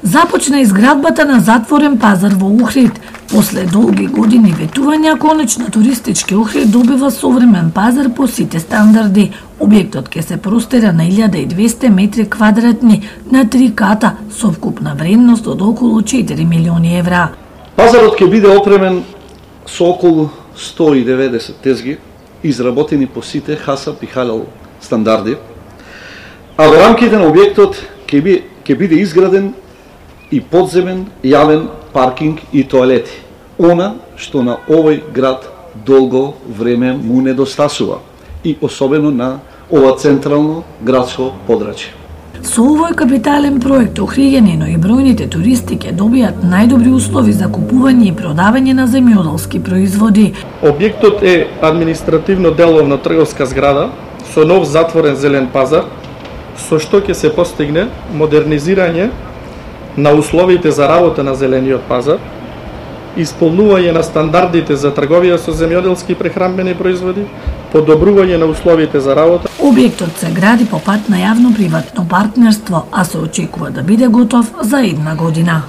Започна изградбата на затворен пазар во Охрид. После долги години ветувања, конечно туристички Охрид добива современ пазар по сите стандарди. Објектот ќе се простира на 1200 метри квадратни на 3 ката со вкупна вредност од околу 4 милиони евра. Пазарот ќе биде опремен со околу 190 тезги, изработени по сите ХАСАП и халал стандарди, а во рамките на објектот ќе биде изграден и подземен јавен паркинг и тоалети. Она што на овој град долго време му недостасува и особено на ова централно градско подрачје. Со овој капитален проект охриѓани, но и бројните туристи ќе добијат најдобри услови за купување и продавање на земјоделски производи. Објектот е административно деловна трговска зграда со нов затворен зелен пазар, со што ќе се постигне модернизирање на условите за работа на зелениот пазар, исполнување на стандардите за трговија со земјоделски прехранбени производи, подобрување на условите за работа. Објектот се гради по пат на јавно-приватно партнерство, а се очекува да биде готов за една година.